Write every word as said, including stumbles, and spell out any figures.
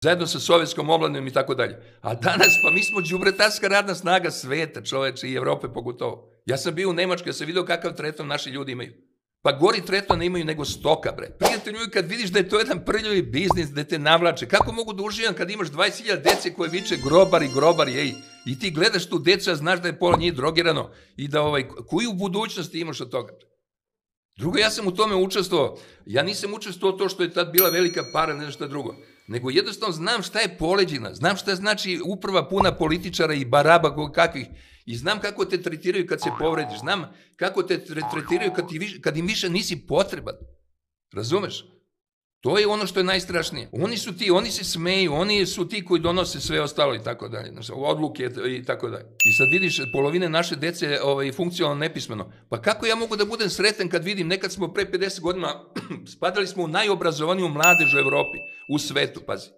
zajedno sa sovjetskom omladinom i tako dalje. A danas, pa mi smo đubretarska radna snaga sveta, čoveče, i Evrope pogotovo. Ja sam bio u Nemačkoj, ja sam vidio kakav tretman naši ljudi imaju. Pa gori tretman imaju nego stoka, bre. Prijatelju, kad vidiš da je to jedan prljavi biznis, da te navlače, kako mogu da uživam kad imaš dvadeset hiljada dece koje viče grobari, grobari, ej, i ti gledaš tu decu, a znaš da je pola njih drogirano i da, ovaj, koju budućnosti imaš od toga? Drugo, ja sam u tome učestvovao. Ja nisam učestvovao to što je tad bila velika para, ne šta drugo. Nego jednostavno znam šta je poleđina, znam šta znači uprava puna političara i baraba kakvih i znam kako te tretiraju kad se povrediš, znam kako te tretiraju kad, ti više, kad im više nisi potreban. Razumeš? To je ono što je najstrašnije. Oni su ti, oni se smeju, oni su ti koji donose sve ostalo i tako dalje, odluke i tako dalje. I sad vidiš, polovine naše dece ovaj, funkcionalno nepismeno. Pa kako ja mogu da budem sretan kad vidim, nekad smo pre pedeset godina, spadali smo u najobrazovaniju mladež u Evropi, u svetu, pazi.